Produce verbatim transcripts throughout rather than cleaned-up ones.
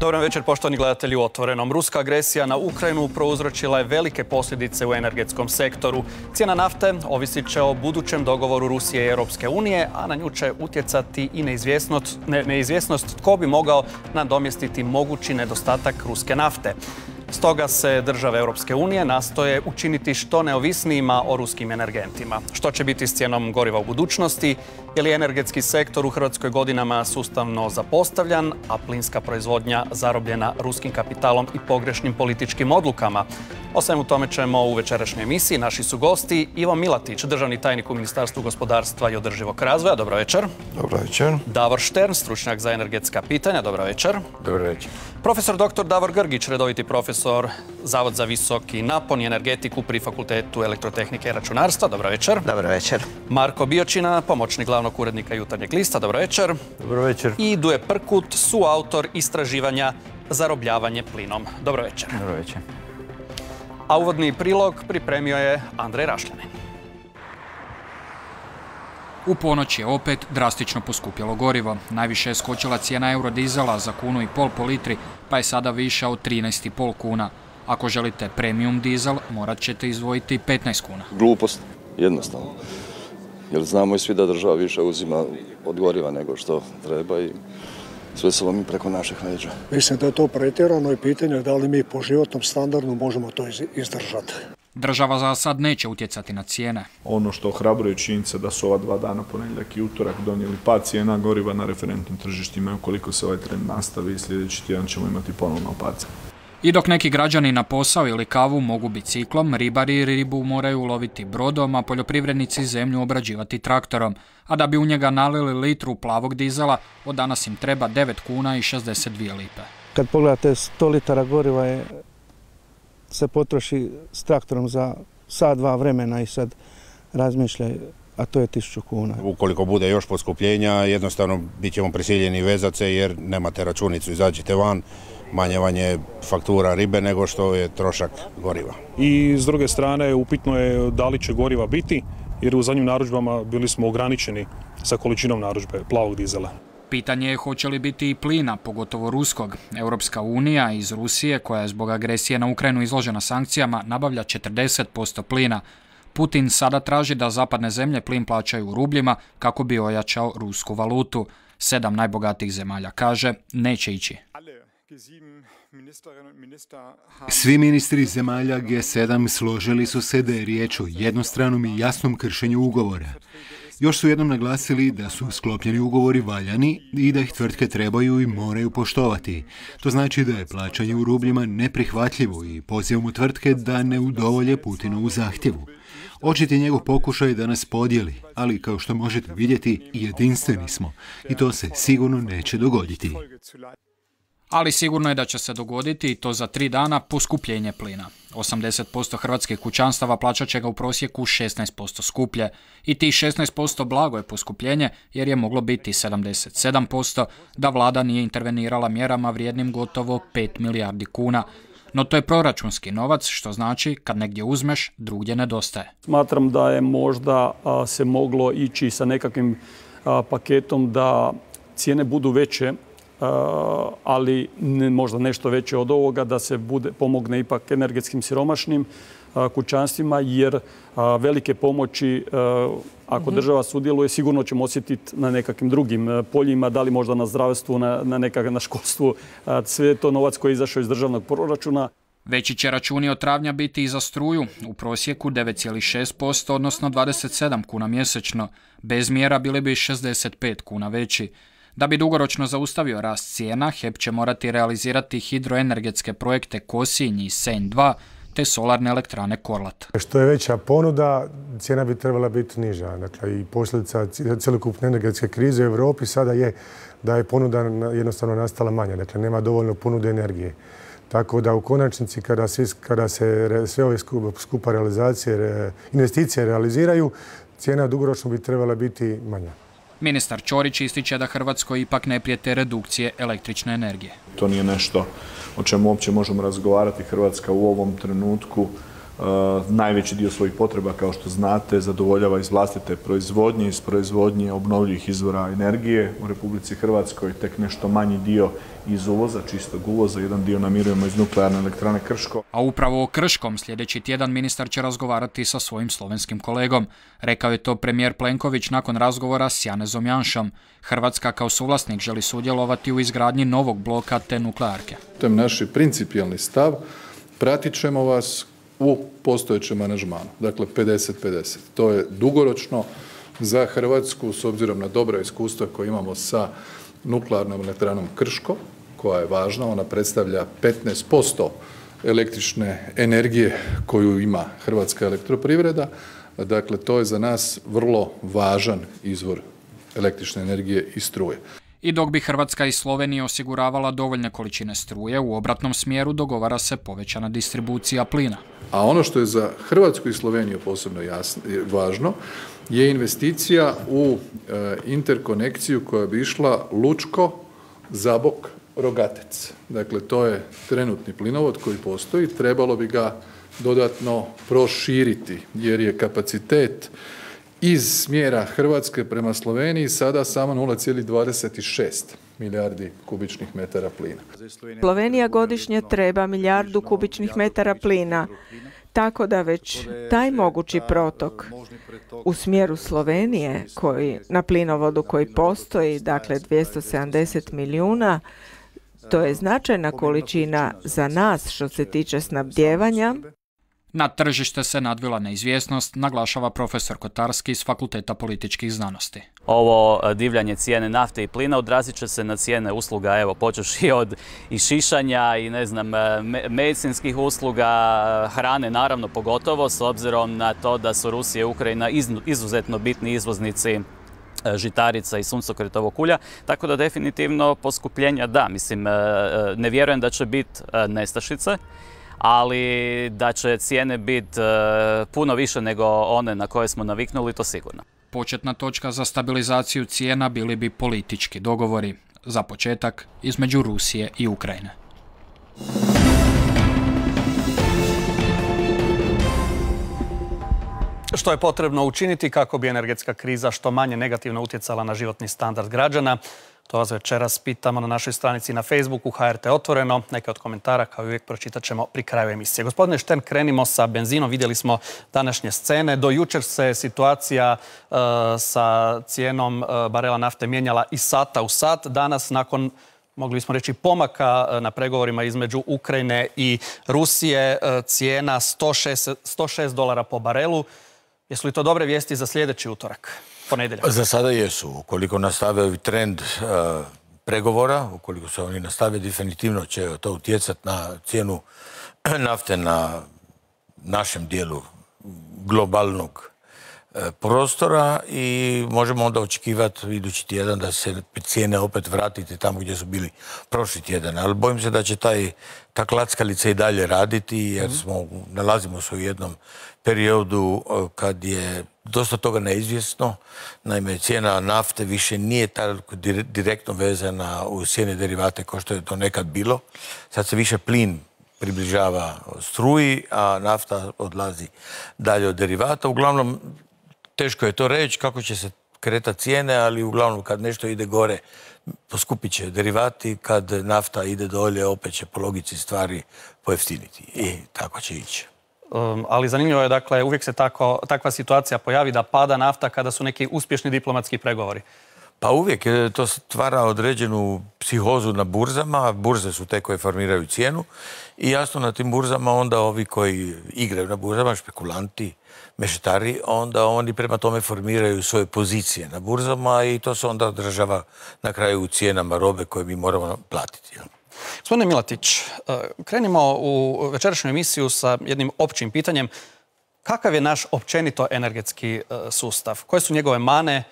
Dobar večer, poštovani gledatelji u Otvorenom. Ruska agresija na Ukrajinu prouzročila je velike posljedice u energetskom sektoru. Cijena nafte ovisit će o budućem dogovoru Rusije i Europske unije, a na nju će utjecati i neizvjesnost, ne, neizvjesnost tko bi mogao nadomjestiti mogući nedostatak ruske nafte. Stoga se države Europske unije nastoje učiniti što neovisnijima o ruskim energentima. Što će biti s cijenom goriva u budućnosti? Je li energetski sektor u Hrvatskoj godinama sustavno zapostavljan, a plinska proizvodnja zarobljena ruskim kapitalom i pogrešnim političkim odlukama? O svemu tome ćemo u večerašnjoj emisiji. Naši su gosti Ivo Milatić, državni tajnik u Ministarstvu gospodarstva i održivog razvoja. Dobro večer. Dobro večer. Davor Štern, stručnjak za energetska pitanja. Dobro večer. Dobro večer. Profesor doktor Davor Grgić, redoviti profesor Zavod za visoki napon i energetiku pri Fakultetu elektrotehnike i računarstva. Dobro večer. Dobro večer. Marko Biočina, pomoćnik glavnog urednika Jutarnjeg lista. Dobro večer. Dobro večer. I Duje Prkut, suautor istraživanja Zarobljavanje plinom. Dobro večer. Dobro večer. A uvodni prilog pripremio je Andrej Rašljanin. U ponoć je opet drastično poskupjelo gorivo. Najviše je skočila cijena eurodizela za kunu i pol po litri, pa je sada viša od trinaest i pol kuna. Ako želite premium dizel, morat ćete izdvojiti petnaest kuna. Glupost, jednostavno. Jer znamo i svi da država više uzima od goriva nego što treba i sve se lomi preko naših leđa. Mislim da je to pretjerano i pitanje da li mi po životnom standardu možemo to izdržati. Država za sad neće utjecati na cijene. Ono što ohrabruje činjenica da su ova dva dana, ponedjeljak i utorak, donijeli pad cijena goriva na referentnim tržištima. Ukoliko se ovaj trend nastavi, sljedeći tjedan ćemo imati ponovno pad. I dok neki građani na posao ili kavu mogu biciklom, ribari ribu moraju loviti brodom, a poljoprivrednici zemlju obrađivati traktorom. A da bi u njega nalili litru plavog dizela, od danas im treba devet kuna i šezdeset dvije lipe. Kad pogledate sto litara goriva je, se potroši s traktorom za sat, dva vremena i sad razmišljaj, a to je tisuću kuna. Ukoliko bude još poskupljenja, jednostavno bit ćemo prisiljeni vezat se jer nemate računicu, izađite van, manje vanje faktura ribe nego što je trošak goriva. I s druge strane upitno je da li će goriva biti, jer u zadnjim narudžbama bili smo ograničeni sa količinom narudžbe plavog dizela. Pitanje je hoće li biti i plina, pogotovo ruskog. Europska unija iz Rusije, koja je zbog agresije na Ukrajinu izložena sankcijama, nabavlja četrdeset posto plina. Putin sada traži da zapadne zemlje plin plaćaju u rubljima kako bi ojačao rusku valutu. Sedam najbogatijih zemalja kaže neće ići. Svi ministri zemalja G sedam složili su se da je riječ o jednostranom i jasnom kršenju ugovora. Još su jednom naglasili da su sklopljeni ugovori valjani i da ih tvrtke trebaju i moraju poštovati. To znači da je plaćanje u rubljima neprihvatljivo i pozivamo tvrtke da ne udovolje Putinovu zahtjevu. Očit je njegov pokušaj da nas podijeli, ali kao što možete vidjeti, jedinstveni smo i to se sigurno neće dogoditi. Ali sigurno je da će se dogoditi i to za tri dana poskupljenje plina. osamdeset posto hrvatskih kućanstava plaćat će ga u prosjeku šesnaest posto skuplje. I tih šesnaest posto blago je poskupljenje jer je moglo biti sedamdeset sedam posto da vlada nije intervenirala mjerama vrijednim gotovo pet milijardi kuna. No to je proračunski novac, što znači kad negdje uzmeš, drugdje nedostaje. Smatram da je možda a, se moglo ići sa nekakvim a, paketom da cijene budu veće, Uh, ali ne, možda nešto veće od ovoga, da se bude, pomogne ipak energetskim siromašnim uh, kućanstvima, jer uh, velike pomoći, uh, ako država sudjeluje, sigurno ćemo osjetiti na nekakvim drugim uh, poljima, da li možda na zdravstvu, na, na, nekak, na školstvu. Uh, sve je to novac koji je izašao iz državnog proračuna. Veći će računi od travnja biti i za struju, u prosjeku devet zarez šest posto, odnosno dvadeset sedam kuna mjesečno. Bez mjera bili bi šezdeset pet kuna veći. Da bi dugoročno zaustavio rast cijena, H E P će morati realizirati hidroenergetske projekte Kosinj i Senj dva te solarne elektrane Korlat. Što je veća ponuda, cijena bi trebala biti niža. Dakle, i posljedica cjelokupne energetske krize u Europi sada je da je ponuda jednostavno nastala manja. Dakle, nema dovoljno ponude energije. Tako da u konačnici kada se, kada se sve ove skupa realizacije, investicije realiziraju, cijena dugoročno bi trebala biti manja. Ministar Ćorić ističe da Hrvatskoj ipak ne prijete redukcije električne energije. To nije nešto o čemu uopće možemo razgovarati. Hrvatska u ovom trenutku najveći dio svojih potreba, kao što znate, zadovoljava iz vlastite proizvodnje, iz proizvodnje obnovljivih izvora energije u Republici Hrvatskoj, tek nešto manji dio iz uvoza, čistog uvoza, jedan dio namirujemo iz nuklearne elektrane Krško. A upravo o Krškom sljedeći tjedan ministar će razgovarati sa svojim slovenskim kolegom. Rekao je to premijer Plenković nakon razgovora s Janezom Janšom. Hrvatska kao suvlasnik želi sudjelovati u izgradnji novog bloka te nuklearke. To je naš principijelni stav. Pratit ćemo vas u postojećem aranžmanu, dakle pedeset pedeset. To je dugoročno za Hrvatsku s obzirom na dobra iskustva koje imamo sa nuklearnom elektranom Krško, koja je važna, ona predstavlja petnaest posto električne energije koju ima Hrvatska elektroprivreda, dakle to je za nas vrlo važan izvor električne energije i struje. I dok bi Hrvatska i Slovenija osiguravala dovoljne količine struje, u obratnom smjeru dogovara se povećana distribucija plina. A ono što je za Hrvatsku i Sloveniju posebno jasno, važno je investicija u e, interkonekciju koja bi išla Lučko, Zabok, Rogatec. Dakle, to je trenutni plinovod koji postoji, trebalo bi ga dodatno proširiti jer je kapacitet iz smjera Hrvatske prema Sloveniji sada samo nula zarez dvadeset šest milijardi kubičnih metara plina. Slovenija godišnje treba milijardu kubičnih metara plina, tako da već taj mogući protok u smjeru Slovenije, koji, na plinovodu koji postoji, dakle dvjesto sedamdeset milijuna, to je značajna količina za nas što se tiče snabdijevanja. Na tržište se nadvila neizvjesnost, naglašava profesor Kotarski iz Fakulteta političkih znanosti. Ovo divljanje cijene nafte i plina odrazit će se na cijene usluga, evo, počevši od i šišanja i ne znam, medicinskih usluga, hrane naravno pogotovo, s obzirom na to da su Rusija i Ukrajina izuzetno bitni izvoznici žitarica i suncokretovog ulja, tako da definitivno poskupljenja da, mislim, ne vjerujem da će biti nestašice, ali da će cijene biti puno više nego one na koje smo naviknuli, to sigurno. Početna točka za stabilizaciju cijena bili bi politički dogovori, za početak između Rusije i Ukrajine. Što je potrebno učiniti kako bi energetska kriza što manje negativno utjecala na životni standard građana? To vas večeras pitamo na našoj stranici na Facebooku H R T Otvoreno. Neke od komentara, kao i uvijek, pročitat ćemo pri kraju emisije. Gospodine Štern, krenimo sa benzinom. Vidjeli smo današnje scene. Do jučer se situacija uh, sa cijenom uh, barela nafte mijenjala iz sata u sat. Danas, nakon, mogli bismo reći, pomaka uh, na pregovorima između Ukrajine i Rusije, uh, cijena sto šest dolara po barelu. Jesu li to dobre vijesti za sljedeći utorak? Ponedjeljak. Za sada jesu. Ukoliko nastave ovi trend uh, pregovora, ukoliko se oni nastave, definitivno će to utjecati na cijenu nafte na našem dijelu globalnog uh, prostora i možemo onda očekivati idući tjedan da se cijene opet vratiti tamo gdje su bili prošli tjedan. Ali bojim se da će taj, ta klackalica i dalje raditi jer smo, nalazimo se u jednom periodu uh, kad je dosta toga neizvjesno. Naime, cijena nafte više nije tako direktno vezana u cijene derivate kao što je to nekad bilo. Sad se više plin približava struji, a nafta odlazi dalje od derivata. Uglavnom, teško je to reći kako će se kretati cijene, ali uglavnom kad nešto ide gore, poskupit će derivati, kad nafta ide dolje, opet će po logici stvari pojeftiniti. I tako će ići. Um, ali zanimljivo je, dakle, uvijek se tako, takva situacija pojavi da pada nafta kada su neki uspješni diplomatski pregovori. Pa uvijek to stvara određenu psihozu na burzama. Burze su te koje formiraju cijenu i jasno na tim burzama onda ovi koji igraju na burzama, špekulanti, mešetari, onda oni prema tome formiraju svoje pozicije na burzama i to se onda odražava na kraju u cijenama robe koje mi moramo platiti. Gospodine Milatić, krenimo u večerašnju emisiju sa jednim općim pitanjem. Kakav je naš općenito energetski sustav? Koje su njegove mane?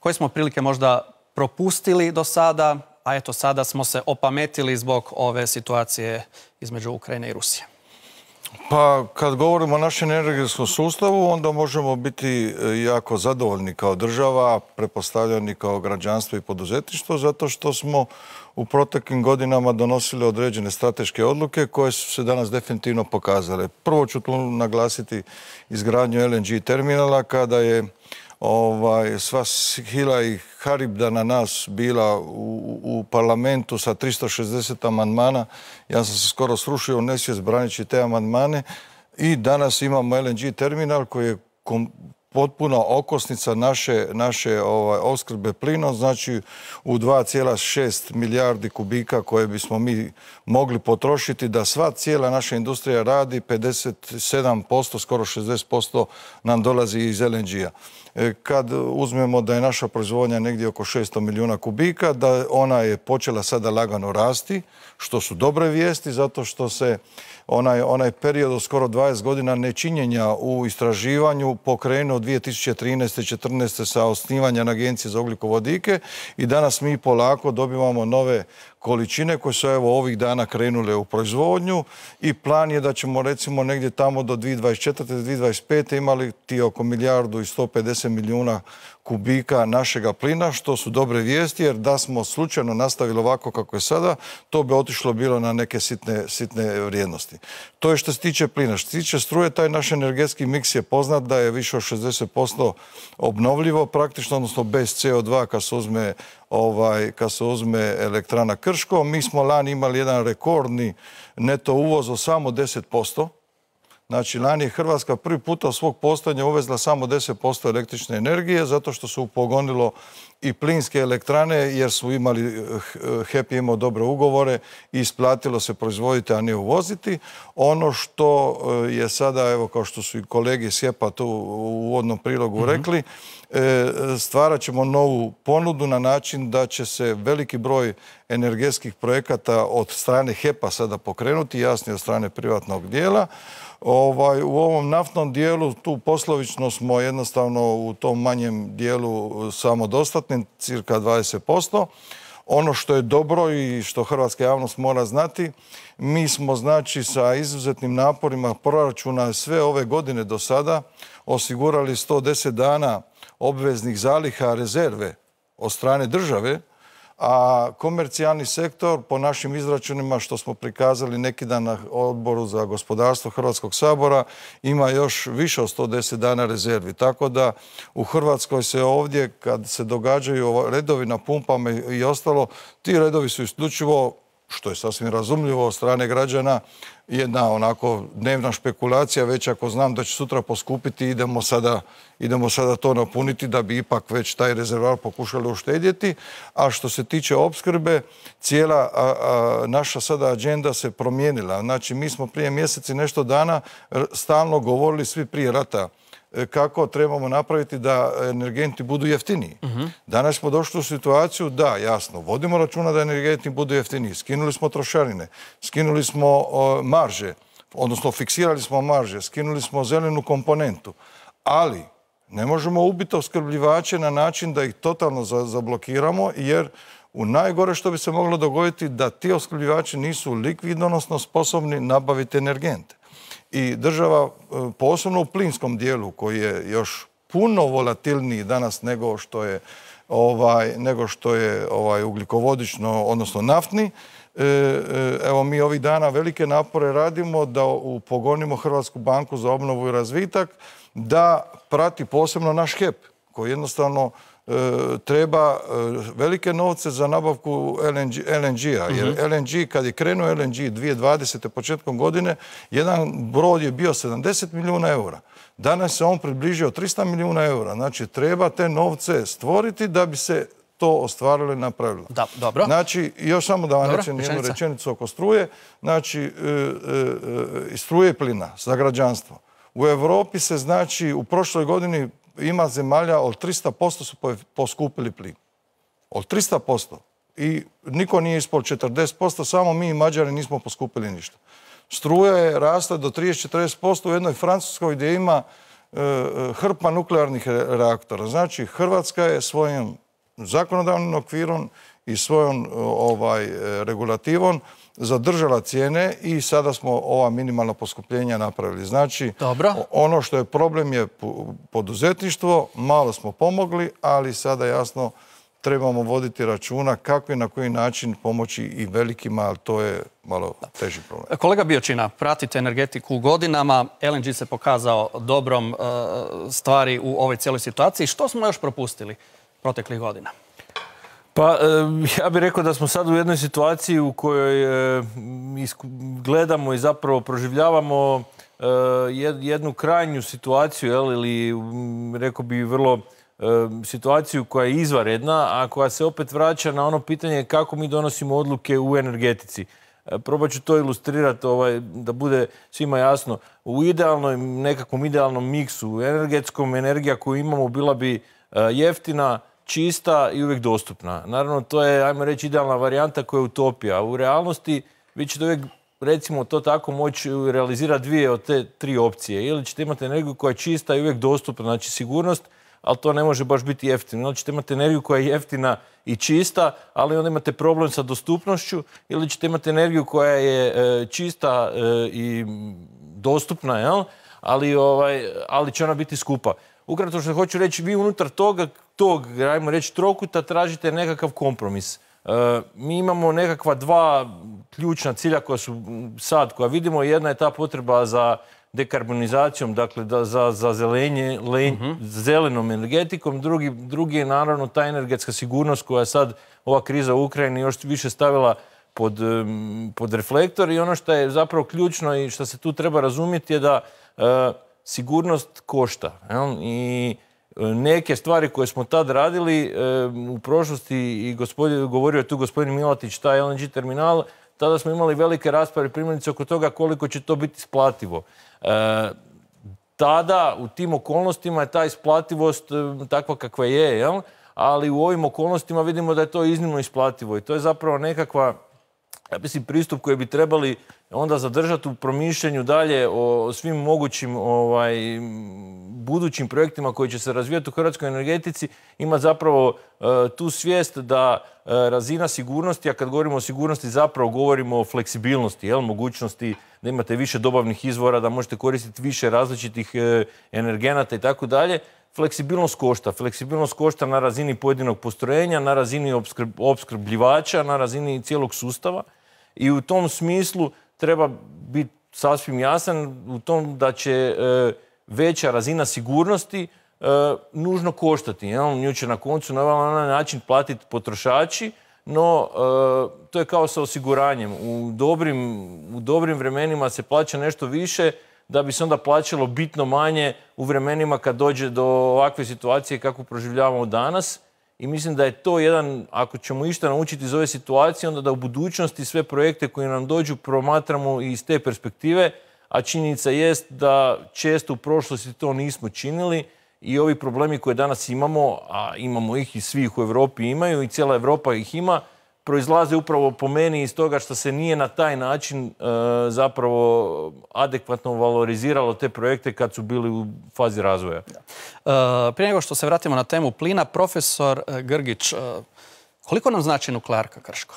Koje smo prilike možda propustili do sada? A eto, sada smo se opametili zbog ove situacije između Ukrajine i Rusije. Pa kad govorimo o našem energetskom sustavu, onda možemo biti jako zadovoljni kao država, prepostavljeni kao građanstvo i poduzetništvo, zato što smo u proteklim godinama donosili određene strateške odluke koje su se danas definitivno pokazale. Prvo ću tu naglasiti izgradnju L N G terminala kada je ovaj, sva hila i haribda na nas bila u, u parlamentu sa tristo šezdeset amandmana. Ja sam se skoro srušio u nesvijest braneći te amandmane i danas imamo L N G terminal koji je kom, potpuno okosnica naše, naše ovaj, opskrbe plinom, znači u dva zarez šest milijardi kubika koje bismo mi mogli potrošiti da sva cijela naša industrija radi, pedeset sedam posto, skoro šezdeset posto nam dolazi iz L N G-a. Kad uzmemo da je naša proizvodnja negdje oko šesto milijuna kubika, da ona je počela sada lagano rasti, što su dobre vijesti, zato što se onaj, onaj period od skoro dvadeset godina nečinjenja u istraživanju pokrenuo dvije tisuće trinaeste. i četrnaeste. sa osnivanjem Agencije za ugljikovodike i danas mi polako dobivamo nove količine koje su evo ovih dana krenule u proizvodnju i plan je da ćemo recimo negdje tamo do dvije tisuće dvadeset četvrte. do dvije tisuće dvadeset pete. imali ti oko milijardu i sto pedeset milijuna kubika našega plina, što su dobre vijesti, jer da smo slučajno nastavili ovako kako je sada, to bi otišlo bilo na neke sitne, sitne vrijednosti. To je što se tiče plina. Što se tiče struje, taj naš energetski miks je poznat da je više od šezdeset posto obnovljivo praktično, odnosno bez C O dva kad se uzme, ovaj, kad se uzme elektrana Krško. Mi smo lani imali jedan rekordni neto uvoz od samo deset posto. Znači, lani je Hrvatska prvi puta od svog postojanja uvezla samo deset posto električne energije, zato što su upogonilo i plinske elektrane, jer su imali, H E P je imao dobre ugovore i isplatilo se proizvoditi, a ne uvoziti. Ono što je sada, evo kao što su i kolege iz H E P-a tu u uvodnom prilogu mm-hmm. rekli, stvarat ćemo novu ponudu na način da će se veliki broj energetskih projekata od strane H E P-a sada pokrenuti, jasnije od strane privatnog dijela. Ovaj, u ovom naftnom dijelu tu poslovično smo jednostavno u tom manjem dijelu samodostatni, cirka dvadeset posto. Ono što je dobro i što hrvatska javnost mora znati, mi smo znači sa izuzetnim naporima proračuna sve ove godine do sada osigurali sto deset dana obveznih zaliha rezerve od strane države, a komercijalni sektor po našim izračunima što smo prikazali neki dan na Odboru za gospodarstvo Hrvatskog sabora ima još više od sto deset dana rezervi. Tako da u Hrvatskoj se ovdje kad se događaju redovi na pumpama i ostalo, ti redovi su isključivo, što je sasvim razumljivo od strane građana, jedna onako dnevna špekulacija, već ako znam da će sutra poskupiti, idemo sada, idemo sada to napuniti da bi ipak već taj rezervoar pokušali uštedjeti. A što se tiče opskrbe, cijela a, a, naša sada agenda se promijenila. Znači, mi smo prije mjeseci i nešto dana stalno govorili svi prije rata kako trebamo napraviti da energenti budu jeftiniji. Uh-huh. Danas smo došli u situaciju da, jasno, vodimo računa da energenti budu jeftiniji. Skinuli smo trošarine, skinuli smo o, marže, odnosno fiksirali smo marže, skinuli smo zelenu komponentu. Ali ne možemo ubiti opskrbljivače na način da ih totalno za, zablokiramo, jer u najgore što bi se moglo dogoditi da ti opskrbljivači nisu likvidnosno sposobni nabaviti energente. I država, posebno u plinskom dijelu, koji je još puno volatilniji danas nego što je, ovaj, nego što je ovaj, ugljikovodično, odnosno naftni, evo mi ovih dana velike napore radimo da upogonimo Hrvatsku banku za obnovu i razvitak, da prati posebno naš H E P, koji jednostavno treba velike novce za nabavku L N G-a. Jer L N G, kad je krenuo L N G dvije tisuće dvadesete početkom godine, jedan brod je bio sedamdeset milijuna eura. Danas se on približio trista milijuna eura. Znači, treba te novce stvoriti da bi se to ostvarilo i napravilo. Da, dobro. Znači, još samo da vam rečem jednu rečenicu oko struje. Znači, struje i plina za građanstvo. U Europi se, znači, u prošloj godini ima zemalja od tristo posto su poskupili plin. Od tristo posto. I niko nije ispod četrdeset posto, samo mi i Mađari nismo poskupili ništa. Struja je rasla do trideset do četrdeset posto u jednoj Francuskoj gdje ima e, hrpa nuklearnih reaktora. Znači, Hrvatska je svojim zakonodavnim okvirom i svojom ovaj, regulativom zadržala cijene i sada smo ova minimalna poskupljenja napravili. Znači, Dobro. ono što je problem je poduzetništvo, malo smo pomogli, ali sada jasno trebamo voditi računa kako i na koji način pomoći i velikima, ali to je malo teži problem. Kolega Biočina, pratite energetiku godinama. L N G se pokazao dobrom stvari u ovoj cijeloj situaciji. Što smo još propustili proteklih godina? Pa ja bih rekao da smo sad u jednoj situaciji u kojoj gledamo i zapravo proživljavamo jednu krajnju situaciju, ili rekao bih vrlo situaciju koja je izvanredna, a koja se opet vraća na ono pitanje kako mi donosimo odluke u energetici. Probat ću to ilustrirati da bude svima jasno. U idealnom, nekakvom idealnom miksu energetskom, energija koju imamo bila bi jeftina, čista i uvijek dostupna. Naravno, to je, ajmo reći, idealna varijanta koja je utopija. U realnosti vi ćete uvijek, recimo to tako, moći realizirati dvije od te tri opcije. Ili ćete imati energiju koja je čista i uvijek dostupna, znači sigurnost, ali to ne može baš biti jeftino. Ili ćete imati energiju koja je jeftina i čista, ali onda imate problem sa dostupnošću. Ili ćete imati energiju koja je čista i dostupna, jel? Ali, ovaj, ali će ona biti skupa. Ukratko što hoću reći, vi unutar toga, tog, ajmo reći, trokuta tražite nekakav kompromis. E, mi imamo nekakva dva ključna cilja koja su sad, koja vidimo. Jedna je ta potreba za dekarbonizacijom, dakle da, za, za zelenje, le, uh-huh. zelenom energetikom. Drugi, drugi je naravno ta energetska sigurnost koja je sad ova kriza u Ukrajini još više stavila pod, pod reflektor. I ono što je zapravo ključno i što se tu treba razumjeti je da e, sigurnost košta. Jel? I neke stvari koje smo tad radili e, u prošlosti, i gospodin, govorio je tu gospodin Milatić, taj L N G terminal, tada smo imali velike rasprave primjerice oko toga koliko će to biti isplativo. E, tada u tim okolnostima je ta isplativost e, takva kakva je, jel? Ali u ovim okolnostima vidimo da je to iznimno isplativo i to je zapravo nekakva, ja mislim, pristup koji bi trebali onda zadržati u promišljanju dalje o svim mogućim ovaj, budućim projektima koji će se razvijati u hrvatskoj energetici, ima zapravo uh, tu svijest da uh, razina sigurnosti, a kad govorimo o sigurnosti zapravo govorimo o fleksibilnosti, jel? Mogućnosti da imate više dobavnih izvora, da možete koristiti više različitih uh, energenata i tako dalje. Fleksibilnost košta. Fleksibilnost košta na razini pojedinog postrojenja, na razini opskrb, opskrbljivača, na razini cijelog sustava. I u tom smislu treba biti sasvim jasan u tom da će e, veća razina sigurnosti e, nužno koštati. Jel? Nju će na koncu na ovaj način platiti potrošači, no e, to je kao sa osiguranjem. U dobrim, u dobrim vremenima se plaća nešto više da bi se onda plaćalo bitno manje u vremenima kad dođe do ovakve situacije kakvu proživljavamo danas. I mislim da je to jedan, ako ćemo išta naučiti iz ove situacije, onda da u budućnosti sve projekte koji nam dođu promatramo iz te perspektive, a činjenica jest da često u prošlosti to nismo činili i ovi problemi koje danas imamo, a imamo ih i svih u Europi imaju i cijela Europa ih ima, proizlaze upravo po meni iz toga što se nije na taj način e, zapravo adekvatno valoriziralo te projekte kad su bili u fazi razvoja. E, prije nego što se vratimo na temu plina, profesor Grgić, e, koliko nam znači nuklearka Krško?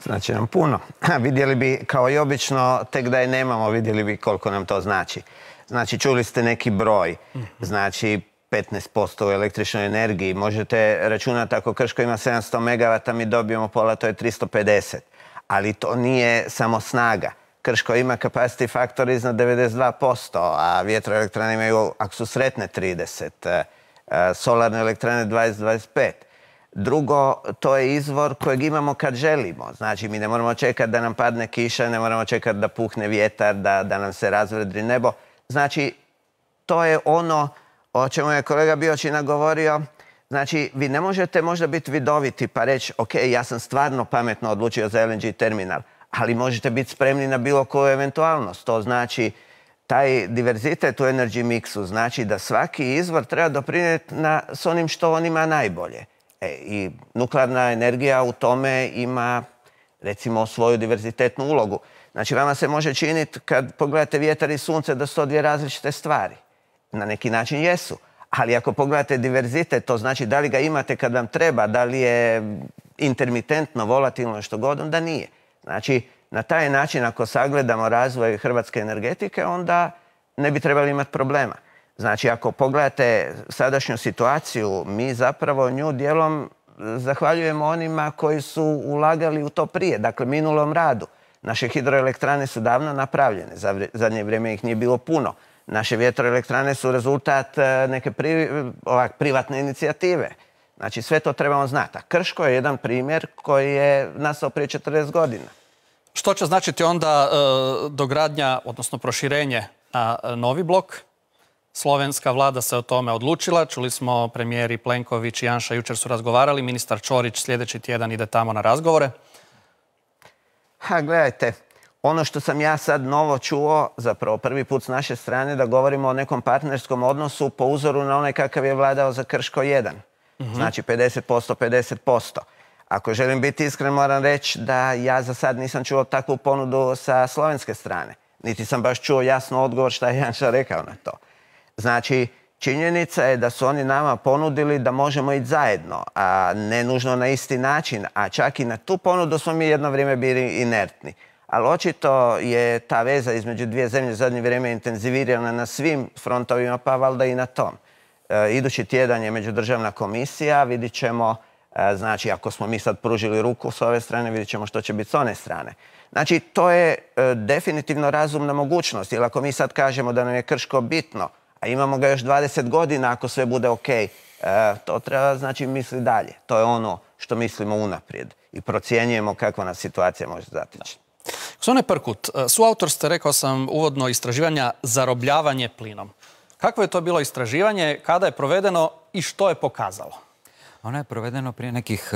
Znači nam puno. Vidjeli bi, kao i obično, tek da je nemamo, vidjeli bi koliko nam to znači. Znači, čuli ste neki broj. Znači, petnaest posto u električnoj energiji. Možete računati ako Krško ima sedamsto megavata, mi dobijemo pola, to je tristo pedeset. Ali to nije samo snaga. Krško ima capacity factor iznad devedeset dva posto, a vjetroelektrane imaju, ako su sretne, trideset, solarne elektrane dvadeset do dvadeset pet. Drugo, to je izvor kojeg imamo kad želimo. Znači, mi ne moramo čekati da nam padne kiša, ne moramo čekati da puhne vjetar, da, da nam se razvedri nebo. Znači, to je ono o čemu je kolega Biočina govorio. Znači, vi ne možete možda biti vidoviti pa reći, ok, ja sam stvarno pametno odlučio za L N G terminal, ali možete biti spremni na bilo koju eventualnost. To znači, taj diverzitet u energy mixu znači da svaki izvor treba doprinijeti na, s onim što on ima najbolje. E, I nuklearna energija u tome ima, recimo, svoju diverzitetnu ulogu. Znači, vama se može činiti, kad pogledate vjetar i sunce, da su to dvije različite stvari. Na neki način jesu. Ali ako pogledate diverzitet, to znači da li ga imate kad vam treba, da li je intermitentno, volatilno, što god, onda nije. Znači, na taj način ako sagledamo razvoj hrvatske energetike, onda ne bi trebali imati problema. Znači, ako pogledate sadašnju situaciju, mi zapravo nju dijelom zahvaljujemo onima koji su ulagali u to prije, dakle minulom radu. Naše hidroelektrane su davno napravljene, za zadnje vrijeme ih nije bilo puno. Naše vjetroelektrane su rezultat neke pri, ovak, privatne inicijative. Znači, sve to trebamo znati. A Krško je jedan primjer koji je nastao prije četrdeset godina. Što će značiti onda e, dogradnja, odnosno proširenje na novi blok? Slovenska vlada se o tome odlučila. Čuli smo premijeri Plenković i Janša jučer su razgovarali. Ministar Ćorić sljedeći tjedan ide tamo na razgovore. Ha, gledajte, ono što sam ja sad novo čuo, zapravo prvi put s naše strane, da govorimo o nekom partnerskom odnosu po uzoru na onaj kakav je vladao za Krško jedan. Mm-hmm. Znači pedeset posto, pedeset posto. Ako želim biti iskren, moram reći da ja za sad nisam čuo takvu ponudu sa slovenske strane. Niti sam baš čuo jasno odgovor šta je Janša rekao na to. Znači, činjenica je da su oni nama ponudili da možemo ići zajedno, a ne nužno na isti način, a čak i na tu ponudu smo mi jedno vrijeme bili inertni. Ali očito je ta veza između dvije zemlje u zadnje vrijeme intenzivirana na svim frontovima, pa valjda i na tom. E, idući tjedan je međudržavna komisija, vidit ćemo, e, znači ako smo mi sad pružili ruku s ove strane, vidit ćemo što će biti s one strane. Znači, to je e, definitivno razumna mogućnost, jer ako mi sad kažemo da nam je Krško bitno, a imamo ga još dvadeset godina ako sve bude ok, e, to treba znači misli dalje. To je ono što mislimo unaprijed i procjenjujemo kakva nas situacija može zatići. Gospodine Prkut, suautor ste, rekao sam uvodno, istraživanja zarobljavanje plinom. Kakvo je to bilo istraživanje, kada je provedeno i što je pokazalo? Ono je provedeno prije nekih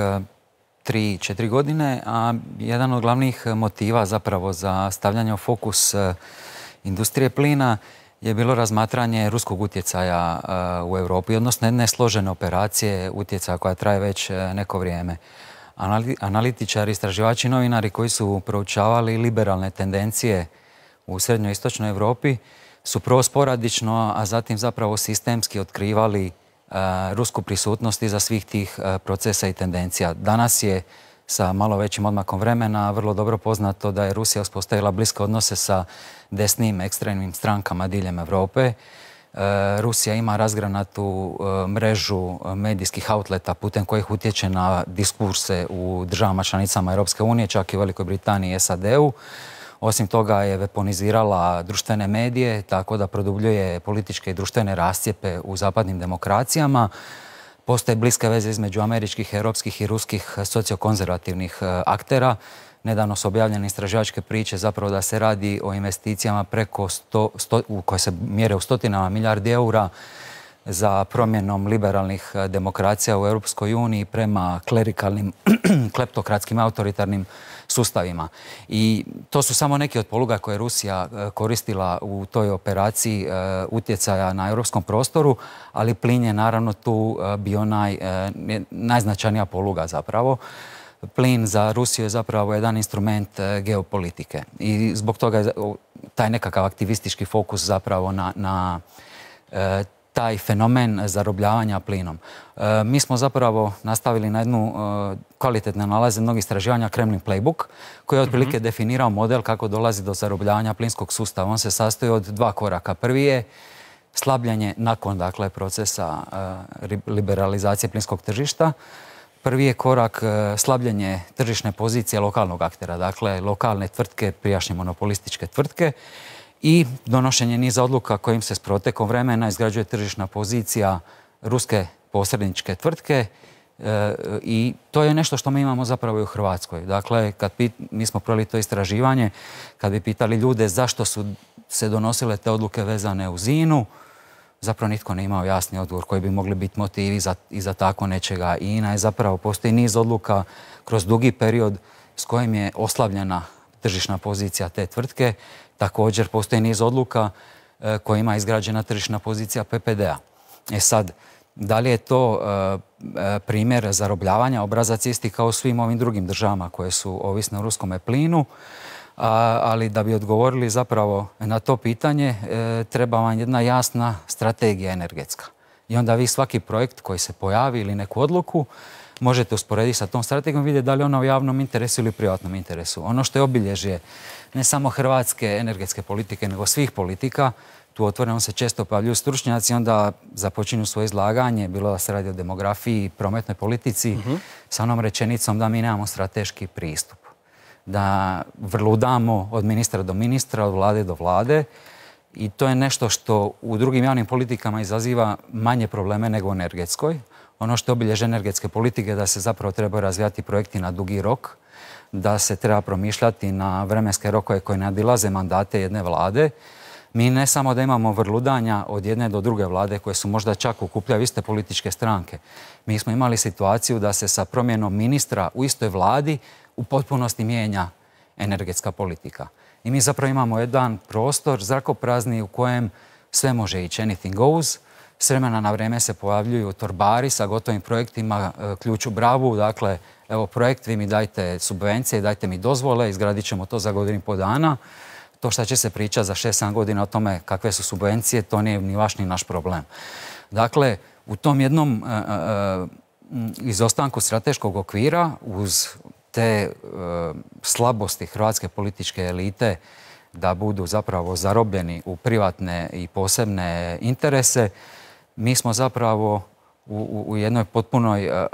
tri četiri godine, a jedan od glavnih motiva zapravo za stavljanje u fokus industrije plina je bilo razmatranje ruskog utjecaja u Europi, odnosno jedne složene operacije utjecaja koja traje već neko vrijeme. Analitičari, istraživači, novinari koji su proučavali liberalne tendencije u srednjoistočnoj Europi su prvo sporadično, a zatim zapravo sistemski otkrivali rusku prisutnost iza svih tih procesa i tendencija. Danas je sa malo većim odmakom vremena vrlo dobro poznato da je Rusija uspostavila bliske odnose sa desnim ekstremnim strankama diljem Europe. Rusija ima razgranatu mrežu medijskih outleta putem kojih utječe na diskurse u državama članicama Europske unije, čak i u Velikoj Britaniji i S A D-u. Osim toga je weaponizirala društvene medije, tako da produbljuje političke i društvene rascijepe u zapadnim demokracijama. Postoje bliske veze između američkih, europskih i ruskih sociokonzervativnih aktera. Nedavno su objavljene istraživačke priče zapravo da se radi o investicijama preko sto, sto, koje se mjere u stotinama milijardi eura za promjenom liberalnih demokracija u Europskoj uniji prema klerikalnim, kleptokratskim, autoritarnim sustavima. I to su samo neki od poluga koje je Rusija koristila u toj operaciji utjecaja na europskom prostoru, ali plin je naravno tu bio naj, najznačajnija poluga zapravo. Plin za Rusiju je zapravo jedan instrument geopolitike i zbog toga je taj nekakav aktivistički fokus zapravo na, na taj fenomen zarobljavanja plinom. E, mi smo zapravo nastavili na jednu e, kvalitetne nalaze mnogih istraživanja Kremlin Playbook, koji je otprilike mm-hmm. definirao model kako dolazi do zarobljavanja plinskog sustava. On se sastoji od dva koraka. Prvi je slabljenje nakon dakle, procesa e, liberalizacije plinskog tržišta. Prvi je korak e, slabljenje tržišne pozicije lokalnog aktera, dakle lokalne tvrtke, prijašnje monopolističke tvrtke, i donošenje niza odluka kojim se s protekom vremena izgrađuje tržišna pozicija ruske posredničke tvrtke e, i to je nešto što mi imamo zapravo i u Hrvatskoj. Dakle, kad pit, mi smo proveli to istraživanje, kad bi pitali ljude zašto su se donosile te odluke vezane uz I N U, zapravo nitko ne imao jasni odgovor koji bi mogli biti motivi za, i za tako nečega. I I N A je zapravo, postoji niz odluka kroz dugi period s kojim je oslabljena tržišna pozicija te tvrtke. Također postoji niz odluka e, kojima je izgrađena tržišna pozicija P P D-a. E sad, da li je to e, primjer zarobljavanja? Obrazac isti kao u svim ovim drugim državama koje su ovisne o ruskome plinu, a, ali da bi odgovorili zapravo na to pitanje e, treba vam jedna jasna strategija energetska. I onda vi svaki projekt koji se pojavi ili neku odluku možete usporediti sa tom strategijom i vidjeti da li je ona u javnom interesu ili privatnom interesu. Ono što je obilježje ne samo hrvatske energetske politike, nego svih politika, tu otvoreno se često pojavljuju stručnjaci, onda započinju svoje izlaganje, bilo da se radi o demografiji, prometnoj politici, uh-huh. sa onom rečenicom da mi nemamo strateški pristup. Da vrludamo od ministra do ministra, od vlade do vlade, i to je nešto što u drugim javnim politikama izaziva manje probleme nego u energetskoj. Ono što je obilježje energetske politike je da se zapravo trebaju razvijati projekti na dugi rok, da se treba promišljati na vremenske rokove koje nadilaze mandate jedne vlade. Mi ne samo da imamo vrludanja od jedne do druge vlade koje su možda čak okupljaju iste političke stranke. Mi smo imali situaciju da se sa promjenom ministra u istoj vladi u potpunosti mijenja energetska politika. I mi zapravo imamo jedan prostor zrakoprazni u kojem sve može ići, anything goes. S vremena na vrijeme se pojavljuju torbari sa gotovim projektima, ključ u bravu, dakle, evo projekt, vi mi dajte subvencije, dajte mi dozvole, izgradit ćemo to za godinu i pol dana. To što će se pričati za šest sedam godina o tome kakve su subvencije, to nije ni vaš ni naš problem. Dakle, u tom jednom e, e, izostanku strateškog okvira, uz te e, slabosti hrvatske političke elite da budu zapravo zarobljeni u privatne i posebne interese, mi smo zapravo u, u, u jednoj potpunoj e, e,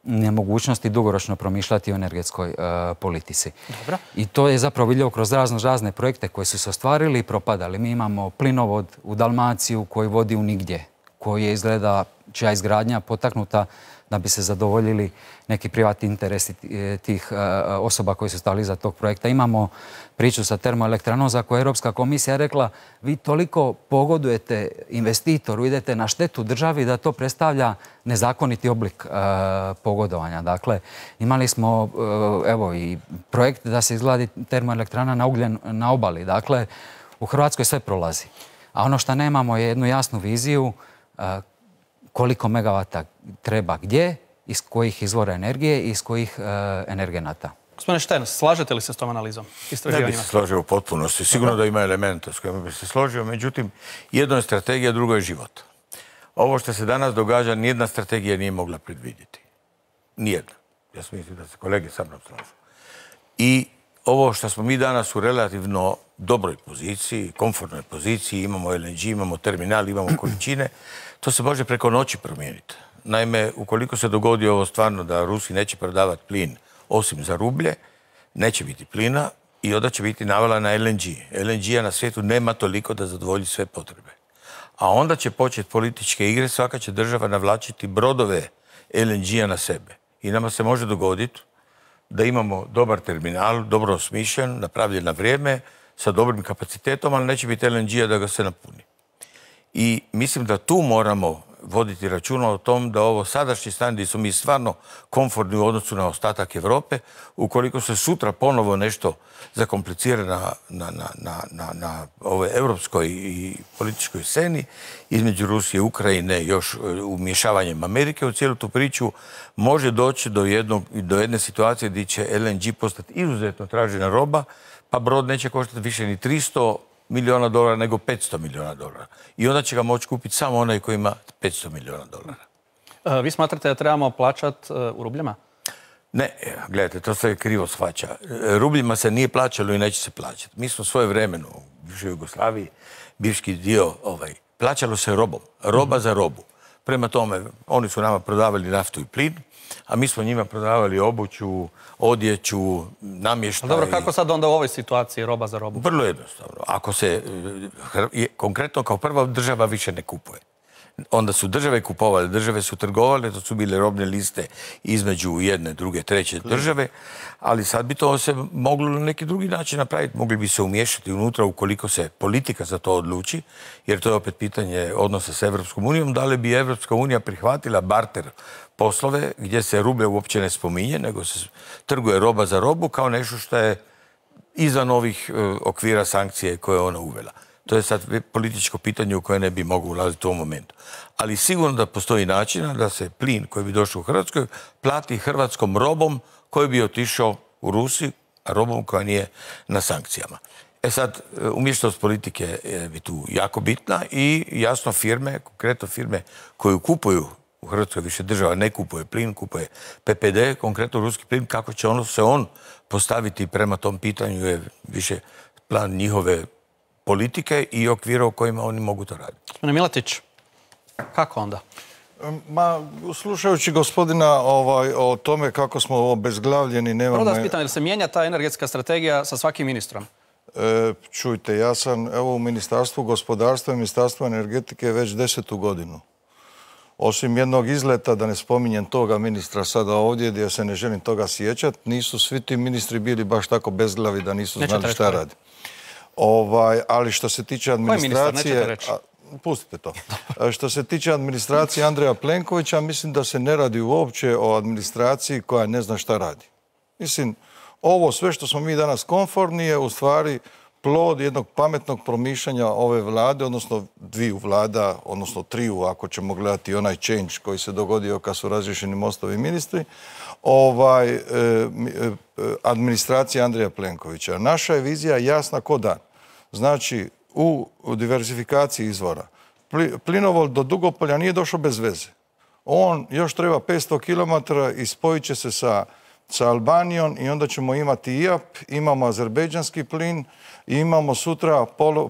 nemogućnosti dugoročno promišljati o energetskoj uh, politici. Dobro. I to je zapravo vidljivo kroz razno razne projekte koji su se ostvarili i propadali. Mi imamo plinovod u Dalmaciju koji vodi u nigdje, koji je izgleda čija izgradnja potaknuta da bi se zadovoljili neki privatni interesi tih uh, osoba koji su stali iza tog projekta. Imamo priču sa termoelektranom za koju je Europska komisija rekla vi toliko pogodujete investitoru, idete na štetu državi da to predstavlja nezakoniti oblik uh, pogodovanja. Dakle, imali smo uh, evo i projekt da se izgradi termoelektrana na ugljen na obali. Dakle, u Hrvatskoj sve prolazi. A ono što nemamo je jednu jasnu viziju uh, koliko megavata treba gdje, iz kojih izvora energije i iz kojih uh, energenata. Gospodine Štern, slažete li se s tom analizom? Ne bih se složio u potpunosti. Sigurno da ima elementa s kojima bi se složio, međutim, jedno je strategija, drugo je život. Ovo što se danas događa, nijedna strategija nije mogla predvidjeti. Nijedna. Ja sam mislim da se kolege sa mnom slažu. I ovo što smo mi danas u relativno dobroj poziciji, komfortnoj poziciji, imamo L N G, imamo terminal, imamo količine, to se može preko noći promijeniti. Naime, ukoliko se dogodi ovo stvarno da Rusi neće prodavati plin osim za rublje, neće biti plina i onda će biti navala na L N G. L N G-a na svijetu nema toliko da zadovolji sve potrebe. A onda će početi političke igre, svaka će država navlačiti brodove L N G-a na sebe. I nama se može dogoditi da imamo dobar terminal, dobro osmišljen, napravljen na vrijeme, sa dobrim kapacitetom, ali neće biti L N G-a da ga se napuni. I mislim da tu moramo voditi računa o tom da ovo sadašnji stanje gdje smo mi stvarno komfortni u odnosu na ostatak Europe, ukoliko se sutra ponovo nešto zakomplicira na, na, na, na, na ovoj europskoj i političkoj sceni, između Rusije i Ukrajine, još umješavanjem Amerike u cijelu tu priču, može doći do, jednog, do jedne situacije gdje će L N G postati izuzetno tražena roba, pa brod neće koštati više ni tristo milijuna dolara nego petsto milijuna dolara. I onda će ga moći kupiti samo onaj koji ima petsto milijuna dolara. Vi smatrate da trebamo plaćati u rubljama? Ne, gledajte, to se krivo shvaća. Rubljima se nije plaćalo i neće se plaćati. Mi smo svoje vremeno u bivšoj Jugoslaviji, bivški dio, ovaj, plaćalo se robom. Roba za robu. Prema tome, oni su nama prodavali naftu i plin, a mi smo njima prodavali obuću, odjeću, namještaj. Dobro, kako sad onda u ovoj situaciji roba za robu? Vrlo jednostavno. Ako se konkretno kao prva država više ne kupuje. Onda su države kupovale, države su trgovale, to su bile robne liste između jedne, druge, treće države, ali sad bi to se moglo na neki drugi način napraviti. Mogli bi se umiješati unutra ukoliko se politika za to odluči, jer to je opet pitanje odnosa s Evropskom unijom, da li bi Evropska unija prihvatila barter poslove gdje se rublje uopće ne spominje, nego se trguje roba za robu kao nešto što je izvan ovih okvira sankcije koje je ona uvela. To je sad političko pitanje u koje ne bi mogao ulaziti u ovom momentu. Ali sigurno da postoji načina da se plin koji bi došao u Hrvatskoj plati hrvatskom robom koji bi otišao u Rusiju, a robom koja nije na sankcijama. E sad, umješnost politike je tu jako bitna i jasno firme, konkretno firme koje kupuju u Hrvatskoj više država ne kupuje plin, kupuje P P D, konkretno ruski plin, kako će ono se on postaviti prema tom pitanju je više plan njihove politike i okvira u kojima oni mogu to raditi. Gospodine Miletić, kako onda? Ma, slušajući gospodina ovaj, o tome kako smo obezglavljeni, nemamo... Prvo da vas pitam, jel se mijenja ta energetska strategija sa svakim ministrom? E, čujte, ja sam evo u Ministarstvu gospodarstva i Ministarstvu energetike već desetu godinu. Osim jednog izleta, da ne spominjem toga ministra sada ovdje, gdje se ne želim toga sjećati, nisu svi ti ministri bili baš tako bezglavi da nisu znali šta radi. Ovaj, ali što se tiče administracije... Pustite to. Što se tiče administracije Andreja Plenkovića, mislim da se ne radi uopće o administraciji koja ne zna šta radi. Mislim, ovo sve što smo mi danas konforni je u stvari plod jednog pametnog promišljanja ove vlade, odnosno dviju vlada, odnosno triju, ako ćemo gledati onaj change koji se dogodio kad su razriješeni Mostovi ministri, ovaj, eh, administracija Andreja Plenkovića. Naša je vizija jasna ko dan. Znači, u diversifikaciji izvora. Plinovod do Dugopolja nije došao bez veze. On još treba petsto kilometara i spojit će se sa, sa Albanijom i onda ćemo imati I A P, imamo azerbejdžanski plin i imamo sutra polo,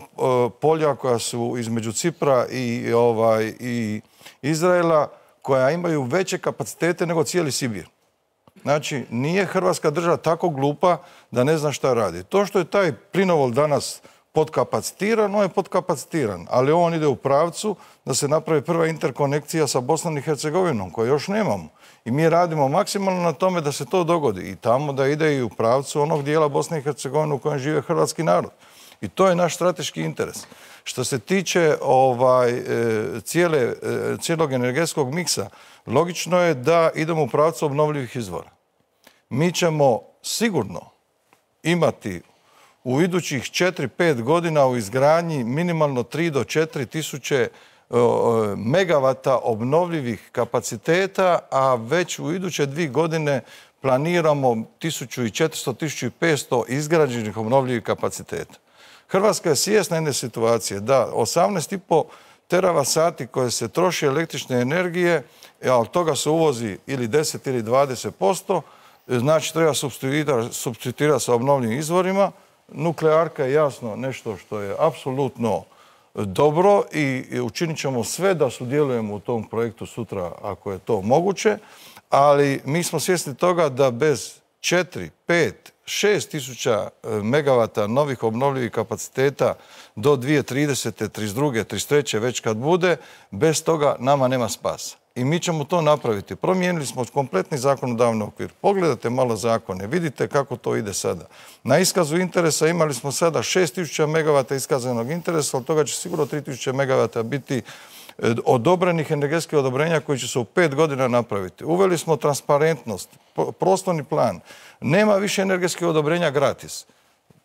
polja koja su između Cipra i, ovaj, i Izraela koja imaju veće kapacitete nego cijeli Sibir. Znači, nije Hrvatska država tako glupa da ne zna šta radi. To što je taj plinovod danas podkapacitiran, on je podkapacitiran, ali on ide u pravcu da se napravi prva interkonekcija sa Bosnom i Hercegovinom, koju još nemamo. I mi radimo maksimalno na tome da se to dogodi i tamo da ide i u pravcu onog dijela Bosne i Hercegovine u kojem žive hrvatski narod. I to je naš strateški interes. Što se tiče ovaj, cijele, cijelog energetskog miksa, logično je da idemo u pravcu obnovljivih izvora. Mi ćemo sigurno imati u idućih četiri pet godina u izgradnji minimalno tri do četiri tisuće megavata obnovljivih kapaciteta, a već u iduće dvije godine planiramo tisuću četiristo do tisuću petsto izgrađenih obnovljivih kapaciteta. Hrvatska je svjesna jedne situacije da osamnaest i pol teravata sati koje se troši električne energije, a od toga se uvozi ili deset ili dvadeset posto, znači treba supstituirati sa obnovljivim izvorima. Nuklearka je jasno nešto što je apsolutno dobro i učinit ćemo sve da sudjelujemo u tom projektu sutra ako je to moguće, ali mi smo svjesni toga da bez četiri, pet, šest tisuća megavata novih obnovljivih kapaciteta do dvije tisuće tridesete, trideset druge, trideset treće već kad bude, bez toga nama nema spasa. I mi ćemo to napraviti. Promijenili smo kompletni zakonodavni okvir. Pogledajte malo zakone, vidite kako to ide sada. Na iskazu interesa imali smo sada šest tisuća megavata iskazanog interesa, od toga će sigurno tri tisuće megavata biti odobrenih energetskih odobrenja koji će se u pet godina napraviti. Uveli smo transparentnost, prostorni plan. Nema više energetskih odobrenja gratis.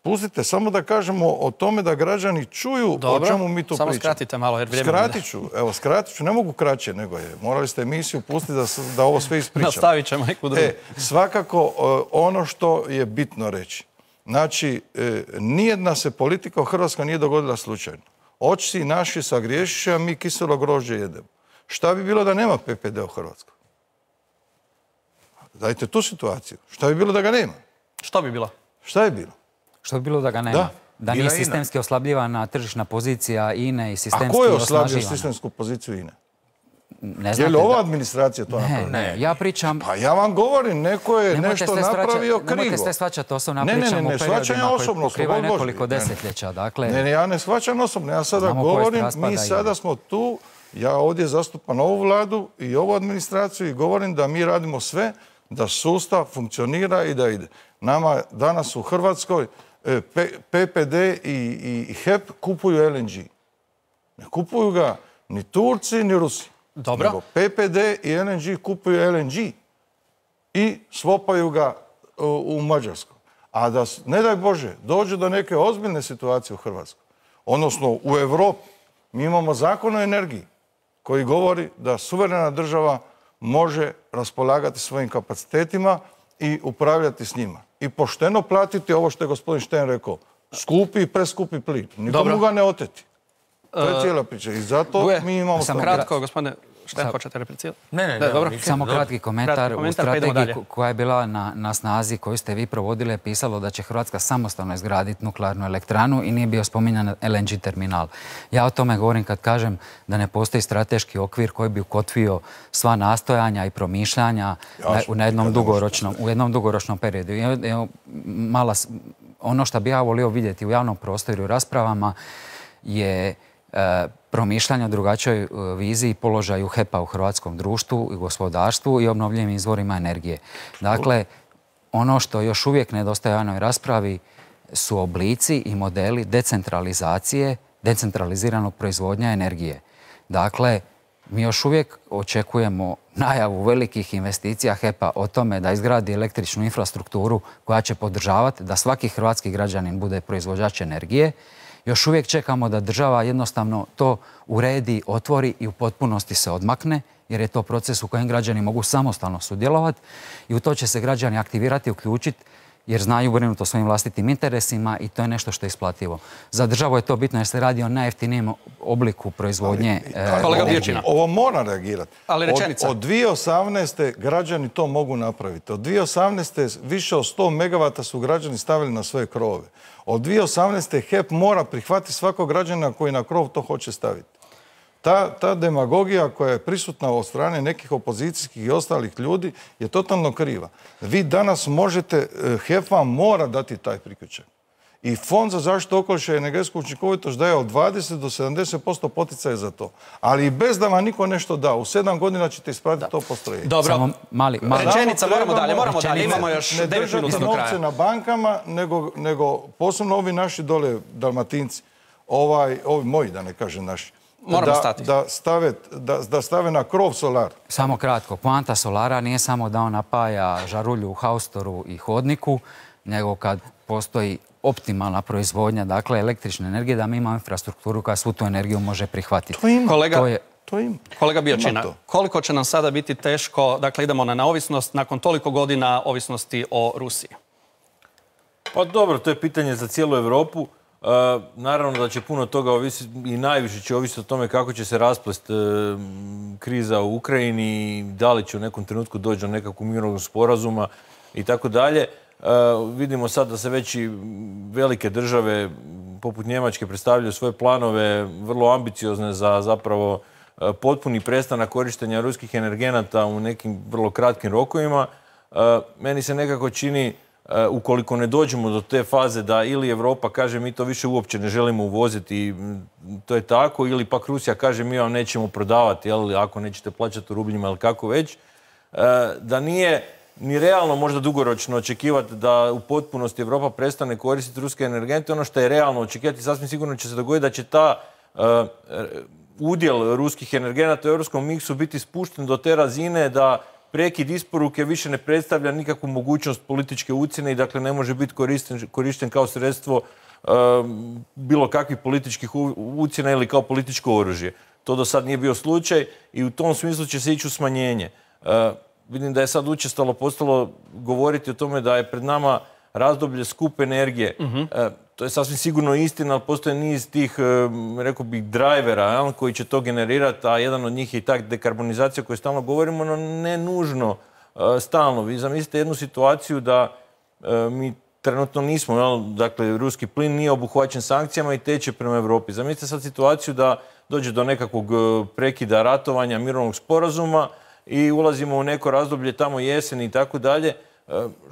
Pustite, samo da kažemo o tome da građani čuju Dobro, o čemu mi tu pričamo. Samo skratite malo, jer vrijeme... Skratit ću, evo, skratit ću, ne mogu kraće nego je. Morali ste emisiju pustiti da, da ovo sve ispričamo. Nastavit ćemo neku drugu. E, svakako, ono što je bitno reći. Znači, e, nijedna se politika u Hrvatskoj nije dogodila slučajno. Očci naši sagriješiše, a mi kiselo grožđe jedemo. Šta bi bilo da nema P P D u Hrvatskoj? Dajte tu situaciju. Šta bi bilo da ga nema? Što bi bilo? Šta je bilo? Što bi bilo da ga nema? Da, da nije sistemski oslabljivana tržišna pozicija I N E i sistemski osnaživana. A ko je osnaživana? oslabio sistemsku poziciju I N E? Ne je li ova administracija to ne, napravila? Ne, ja pričam... Pa ja vam govorim, neko je nemojte nešto napravio krivo. Nemojte ste shvaćati osobno, ne, pričam ne, ne, o periodima koji pokrivaju nekoliko ne, desetljeća. Dakle, ne, ne, ja ne shvaćam osobno, ja sada govorim, mi sada smo tu, ja ovdje zastupam ovu vladu i ovu administraciju i govorim da mi radimo sve da sustav funkcionira i da ide. Nama danas u Hrvatskoj P P D i, i H E P kupuju L N G. Ne kupuju ga ni Turci, ni Rusi. Dobro. Nego P P D i L N G kupuju L N G i svopaju ga u, u Mađarsku. A da, ne daj Bože, dođe do neke ozbiljne situacije u Hrvatskoj, odnosno u Europi, mi imamo zakon o energiji koji govori da suverena država može raspolagati svojim kapacitetima i upravljati s njima. I pošteno platiti ovo što je gospodin Šten rekao. Skupi i preskupi plin. Nikomu ga ne oteti. To je cijela priča. I zato Buje, mi imamo... Sam kratko, gospodine Hoćete, hoćete replicirati? Ne, ne, Da, ne, dobro. Samo kratki komentar. Kratki U komentar, pa idemo strategiji dalje. koja je bila na, na snazi, koju ste vi provodili, je pisalo da će Hrvatska samostalno izgraditi nuklearnu elektranu i nije bio spominjan L N G terminal. Ja o tome govorim kad kažem da ne postoji strateški okvir koji bi ukotvio sva nastojanja i promišljanja na, na jednom dugoročnom, u jednom dugoročnom periodu. I, evo, mala, ono što bi ja volio vidjeti u javnom prostoru i raspravama je e, promišljanje o drugačijoj viziji i položaju H E P-a u hrvatskom društvu i gospodarstvu i obnovljivim izvorima energije. Dakle, ono što još uvijek nedostaje u javnoj raspravi su oblici i modeli decentralizacije, decentraliziranog proizvodnja energije. Dakle, mi još uvijek očekujemo najavu velikih investicija H E P-a o tome da izgradi električnu infrastrukturu koja će podržavati da svaki hrvatski građanin bude proizvođač energije. Još uvijek čekamo da država jednostavno to uredi, otvori i u potpunosti se odmakne, jer je to proces u kojem građani mogu samostalno sudjelovati i u to će se građani aktivirati, uključiti, jer znaju brinuti o svojim vlastitim interesima i to je nešto što je isplativo. Za državu je to bitno jer se radi o najjeftinijem obliku proizvodnje energije. Ovo mora reagirati. Ali rečenica. Od, od dvije tisuće osamnaeste građani to mogu napraviti. Od dvije tisuće osamnaeste više od sto megavata su građani stavili na svoje krovove. Od dvije tisuće osamnaeste H E P mora prihvatiti svakog građana koji na krov to hoće staviti. Ta, ta demagogija koja je prisutna od strane nekih opozicijskih i ostalih ljudi je totalno kriva. Vi danas možete, H E P vam mora dati taj priključak. I Fond za zaštitu okoliša i energetsku učinkovitost daje od dvadeset do sedamdeset posto poticaja za to. Ali i bez da vam niko nešto da, u sedam godina ćete ispratiti to postrojenje. Dobro. Samo mali, mali. Rečenica, moramo dalje, moramo dalje. Imamo još devet minuta do kraja. Ne držati novce na bankama, nego, nego posebno ovi naši dole Dalmatinci, ovaj, ovi moji, da ne kažem naši, Moramo stati. Da stave, da, da stave na krov solar. Samo kratko. Poanta solara nije samo da on napaja žarulju u haustoru i hodniku, nego kad postoji optimalna proizvodnja, dakle električne energije, da mi imamo infrastrukturu koja svu tu energiju može prihvatiti. To ima. Kolega, to je, to ima. Kolega Biočina, koliko će nam sada biti teško, dakle idemo na neovisnost nakon toliko godina ovisnosti o Rusiji? Pa dobro, to je pitanje za cijelu Europu. Uh, naravno da će puno toga ovisiti i najviše će ovisiti o tome kako će se rasplest uh, kriza u Ukrajini, da li će u nekom trenutku doći do nekakvog mirovnog sporazuma i tako dalje. Vidimo sad da se već i velike države poput Njemačke predstavljaju svoje planove vrlo ambiciozne za zapravo uh, potpuni prestanak korištenja ruskih energenata u nekim vrlo kratkim rokovima. Uh, meni se nekako čini Uh, ukoliko ne dođemo do te faze da ili Europa kaže mi to više uopće ne želimo uvoziti, to je tako, ili pak Rusija kaže mi vam nećemo prodavati, jel, ako nećete plaćati u rubljima ili kako već, uh, da nije ni realno možda dugoročno očekivati da u potpunosti Europa prestane koristiti ruske energente. Ono što je realno očekivati, sasvim sigurno će se dogoditi da će ta uh, udjel ruskih energenata u europskom miksu biti spušten do te razine da prekid isporuke više ne predstavlja nikakvu mogućnost političke ucjene i dakle ne može biti korišten, korišten kao sredstvo uh, bilo kakvih političkih ucjena ili kao političko oružje. To do sad nije bio slučaj i u tom smislu će se ići u smanjenje. Uh, vidim da je sad učestalo postalo govoriti o tome da je pred nama razdoblje skupe energije. Uh-huh. uh, to je sasvim sigurno istina, ali postoje niz tih, uh, rekao bih, drajvera jel, koji će to generirati, a jedan od njih je i ta dekarbonizacija koju stalno govorimo, no ne nužno uh, stalno. Vi zamislite jednu situaciju da uh, mi trenutno nismo, jel, dakle, ruski plin nije obuhvaćen sankcijama i teče prema Europi. Zamislite sad situaciju da dođe do nekakvog uh, prekida ratovanja, mirovnog sporazuma i ulazimo u neko razdoblje tamo jeseni i tako dalje.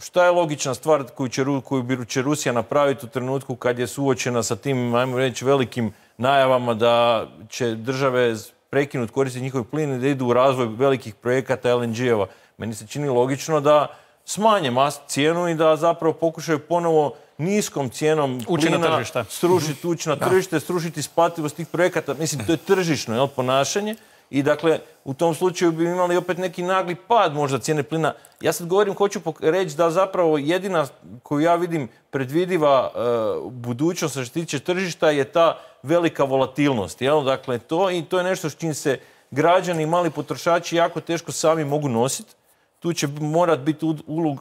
Šta je logična stvar koju će, koju će Rusija napraviti u trenutku kad je suočena sa tim, ajmo reći, velikim najavama da će države prekinuti koristiti njihov plin i da idu u razvoj velikih projekata L N G-eva? Meni se čini logično da smanje mas cijenu i da zapravo pokušaju ponovo niskom cijenom plina srušiti ući na tržište, srušiti isplativost tih projekata. Mislim, to je tržišno, jel, ponašanje. I dakle, u tom slučaju bi imali opet neki nagli pad možda cijene plina. Ja sad govorim, hoću reći da zapravo jedina koju ja vidim predvidiva uh, budućnost što se tiče tržišta je ta velika volatilnost. Jel? Dakle, to, i to je nešto s čim se građani i mali potrošači jako teško sami mogu nositi. Tu će morati biti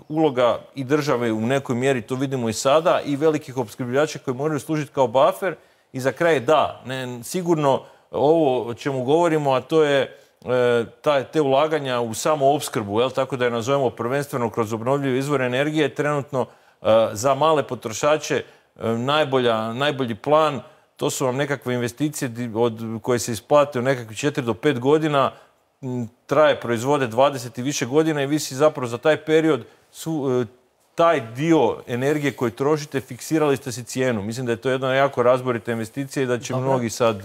uloga i države u nekoj mjeri, to vidimo i sada, i velikih opskrbljivača koji moraju služiti kao buffer. I za kraj da, ne, sigurno ovo o čemu govorimo, a to je te ulaganja u samo opskrbu, tako da je nazovemo prvenstveno kroz obnovljive izvore energije, trenutno za male potrošače najbolji plan. To su vam nekakve investicije koje se isplate u nekakvih četiri do pet godina, traje proizvode dvadeset i više godina i vi si zapravo za taj period taj dio energije koji trošite, fiksirali ste si cijenu. Mislim da je to jedna jako razborita investicija i da će mnogi sad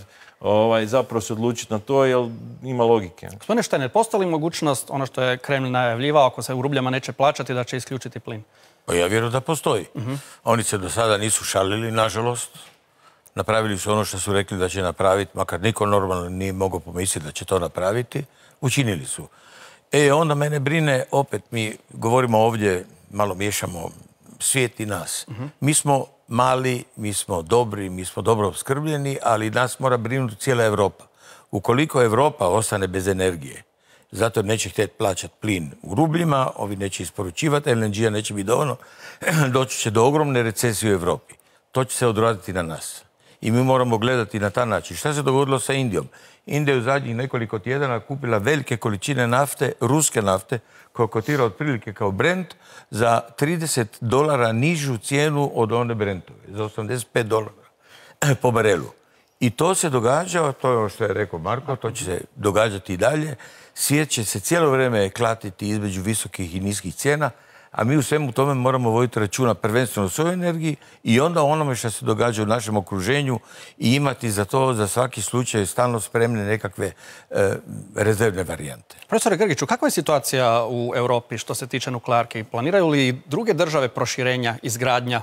zapravo se odlučiti na to, jer ima logike. Gospodine Štajner, postoji li mogućnost, ono što je Kreml najavljivao, ako se u rubljama neće plaćati, da će isključiti plin? Pa ja vjerujem da postoji. Oni se do sada nisu šalili, nažalost. Napravili su ono što su rekli da će napraviti, makar niko normalno nije mogao pomisliti da će to napraviti. Učinili su. E, onda mene brine, opet mi govorimo ovdje, malo miješamo svijet i nas. Mi smo mali, mi smo dobri, mi smo dobro opskrbljeni, ali nas mora brinuti cijela Europa. Ukoliko Europa ostane bez energije, zato neće htjeti plaćati plin u rubljima, ovi neće isporučivati, L N G-a neće biti dovoljno, doći će do ogromne recesije u Europi. To će se odraditi na nas. I mi moramo gledati na taj način. Šta se dogodilo sa Indijom? Indija je u zadnjih nekoliko tjedana kupila velike količine nafte, ruske nafte, koja kotira otprilike kao Brent, za trideset dolara nižu cijenu od one Brentove, za osamdeset pet dolara po barelu. I to se događa, to je ono što je rekao Marko, to će se događati i dalje. Svijet će se cijelo vrijeme klatiti između visokih i niskih cijena, a mi u svemu tome moramo voditi računa prvenstveno o svojoj energiji i onda onome što se događa u našem okruženju i imati za to, za svaki slučaj, stalno spremne nekakve rezervne varijante. Profesore Grgiću, kakva je situacija u Europi što se tiče nuklearke? Planiraju li druge države proširenja, izgradnja?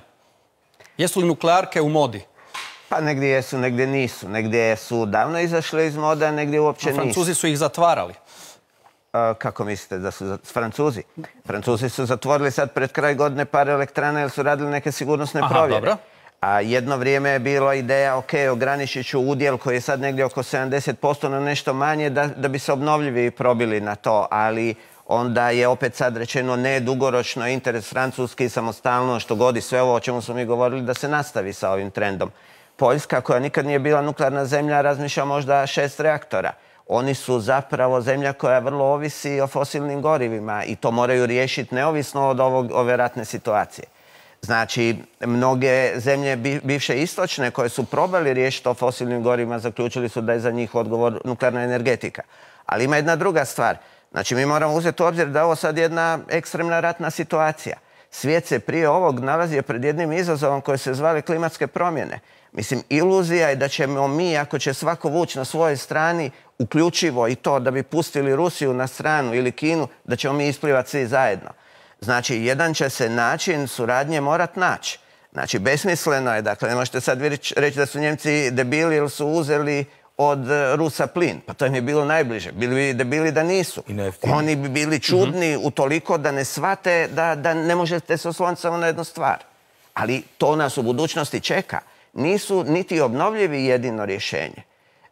Jesu li nuklearke u modi? Pa negdje jesu, negdje nisu. Negdje su davno izašle iz moda, a negdje uopće nisu. Francuzi su ih zatvarali. Kako mislite da su Francuzi? Francuzi su zatvorili sad pred kraj godine par elektrana jer su radili neke sigurnosne provjere. A jedno vrijeme je bilo ideja, ok, ograničit ću udjel koji je sad negdje oko sedamdeset posto na nešto manje da bi se obnovljivi probili na to, ali onda je opet sad rečeno ne, dugoročno interes francuski, samostalno, što godi sve ovo o čemu smo mi govorili, da se nastavi sa ovim trendom. Poljska, koja nikad nije bila nuklearna zemlja, razmišlja možda šest reaktora. Oni su zapravo zemlja koja vrlo ovisi o fosilnim gorivima i to moraju riješiti neovisno od ove ratne situacije. Znači, mnoge zemlje bivše istočne koje su probali riješiti o fosilnim gorivima zaključili su da je za njih odgovor nuklearna energetika. Ali ima jedna druga stvar. Znači, mi moramo uzeti u obzir da je ovo sad jedna ekstremna ratna situacija. Svijet se prije ovog nalazio pred jednim izazovom koji se zvali klimatske promjene. Mislim, iluzija je da ćemo mi, ako će svako vući na svojoj strani, uključivo i to da bi pustili Rusiju na stranu ili Kinu, da ćemo mi isplivati svi zajedno. Znači, jedan će se način suradnje morat naći. Znači, besmisleno je, dakle, ne možete sad reći da su Njemci debili ili su uzeli od Rusa plin. Pa to im je bilo najbliže. Bili bi debili da nisu. Oni bi bili čudni utoliko da ne shvate da ne možete se osloniti samo na jednu stvar. Ali to nas u budućnosti čeka. Nisu niti obnovljivi jedino rješenje.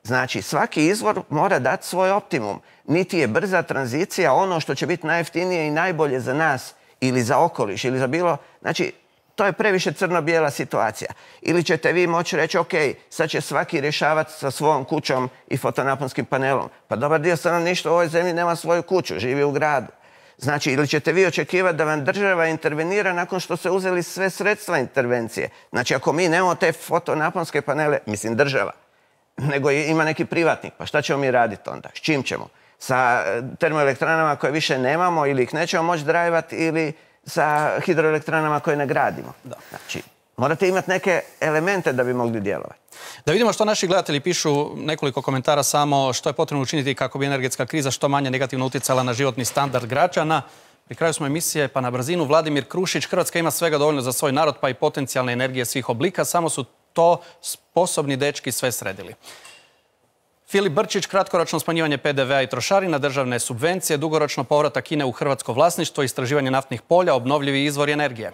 Znači, svaki izvor mora dati svoj optimum. Niti je brza tranzicija ono što će biti najjeftinije i najbolje za nas ili za okoliš ili za bilo... Znači, to je previše crno-bijela situacija. Ili ćete vi moći reći, ok, sad će svaki rješavati sa svojom kućom i fotonaponskim panelom. Pa dobar dio stanovništva u ovoj zemlji nema svoju kuću, živi u gradu. Znači, ili ćete vi očekivati da vam država intervenira nakon što ste uzeli sve sredstva intervencije. Znači, ako mi nemamo te fotonaponske panele, mislim država, nego ima neki privatnik, pa šta ćemo mi raditi onda? S čim ćemo? Sa termoelektranama koje više nemamo ili ih nećemo moći drajvati ili sa hidroelektranama koje ne gradimo. Znači, morate imati neke elemente da bi mogli djelovati. Da vidimo što naši gledatelji pišu, nekoliko komentara samo što je potrebno učiniti kako bi energetska kriza što manje negativno utjecala na životni standard građana. Pri kraju smo emisije, pa na brzinu. Vladimir Krušić, Hrvatska ima svega dovoljno za svoj narod, pa i potencijalne energije svih oblika, samo su to sposobni dečki sve sredili. Filip Brčić, kratkoročno smanjivanje P D V-a i trošarina, državne subvencije, dugoročno povratak Kine u hrvatsko vlasništvo, istraživanje naftnih polja, obnovljivi izvori energije.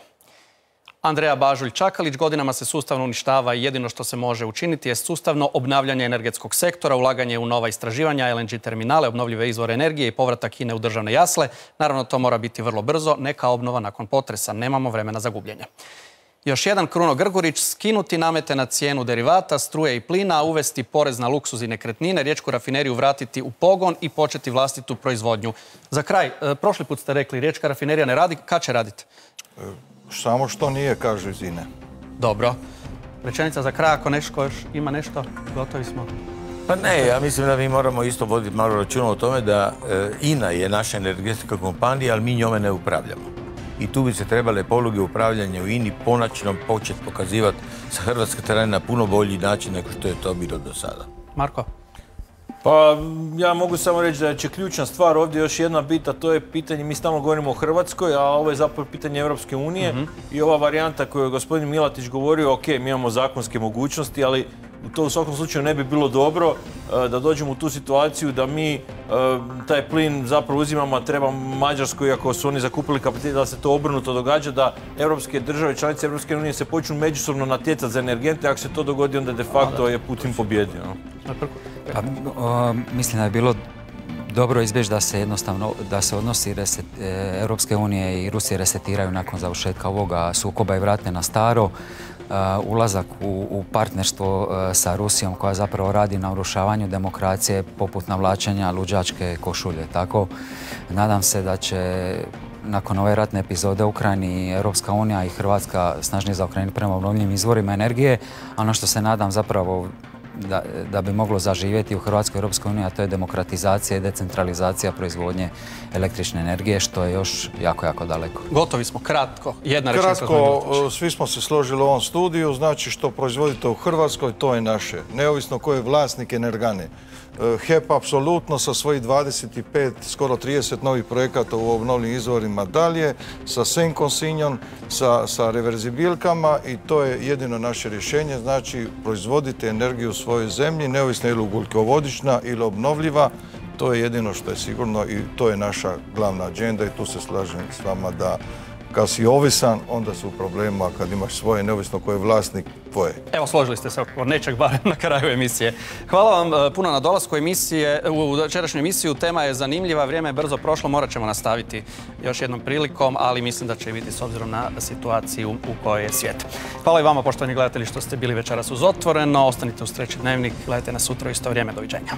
Andreja Bažulj-Čakalić, godinama se sustavno uništava i jedino što se može učiniti je sustavno obnavljanje energetskog sektora, ulaganje u nova istraživanja, L N G terminale, obnovljive izvore energije i povratak Kine u državne jasle. Naravno, to mora biti vrlo brzo, neka obnova nakon potresa. Nemamo vremena za gubljenje. Još jedan Kruno Grgurić, skinuti namete na cijenu derivata, struje i plina, uvesti porez na luksuz i nekretnine, riječku rafineriju vratiti u pogon i početi vlastitu proizvodnju. Za kraj, prošli put ste rekli, riječka rafinerija ne radi, kad će raditi? Samo što nije, kažu iz INE. Dobro. Rečenica za kraj, ako nešto još ima nešto, gotovi smo. Pa ne, ja mislim da mi moramo isto voditi malo računa o tome da INA je naša energetska kompanija, ali mi njome ne upravljamo. I tu bi se trebale poluge upravljanja u INI ponačno početi pokazivati sa hrvatske terena na puno bolji način nego što je to bilo do sada. Marko? Pa ja mogu samo reći da će ključna stvar ovdje još jedna bit, a to je pitanje, mi stalno govorimo o Hrvatskoj, a ovo je zapravo pitanje Europske unije i ova varijanta koju je gospodin Milatić govorio, ok, mi imamo zakonske mogućnosti, ali to u svakom slučaju ne bi bilo dobro da dođemo u tu situaciju da mi taj plin zapravo uzimamo, a treba Mađarskoj, iako su oni zakupili kapacitet, da se to obrnuto događa, da europske države, članice Europske unije se počnu međusobno natjecati za energente, ako se to dogodi, onda de facto je Putin pobjedio. Pa, o, mislim da je bilo dobro izbjeći da se jednostavno, da se odnosi reset, e, Europske unije i Rusije resetiraju nakon završetka ovoga sukoba i vrate na staro. Uh, ulazak u, u partnerstvo uh, sa Rusijom koja zapravo radi na urušavanju demokracije poput navlačenja luđačke košulje. Tako, nadam se da će nakon ove ratne epizode u Ukrajini Europska unija i Hrvatska snažnije zaokrenuti prema obnovljivim izvorima energije. Ono što se nadam zapravo Da, da bi moglo zaživjeti u Hrvatskoj i Europskoj uniji, a to je demokratizacija i decentralizacija proizvodnje električne energije, što je još jako, jako daleko. Gotovi smo, kratko. Jedna rečenica. Kratko, svi smo se složili u ovom studiju, znači što proizvodite u Hrvatskoj, to je naše. Neovisno ko je vlasnik Energane. H E P apsolutno sa svojih dvadeset pet, skoro trideset novih projekata u obnovljivim izvorima dalje, sa senkom Sinjon, sa, sa reverzibilkama i to je jedino naše rješenje. Znači, proizvodite energiju u svojoj zemlji, neovisno ili ugljikovodичna ili obnovljiva. To je jedino što je sigurno i to je naša glavna agenda i tu se slažem s vama da kad si ovisan, onda su u problemu, a kad imaš svoje, neovisno ko je vlasnik, tvoje. Evo, složili ste se oko nečeg barem na kraju emisije. Hvala vam puno na dolasku emisije, u večerašnju emisiju. Tema je zanimljiva, vrijeme je brzo prošlo, morat ćemo nastaviti još jednom prilikom, ali mislim da će biti s obzirom na situaciju u kojoj je svijet. Hvala i vama, poštovani gledatelji, što ste bili večeras uz Otvoreno. Ostanite uz Treći dnevnik, gledajte nas sutra u isto vrijeme. Doviđenja.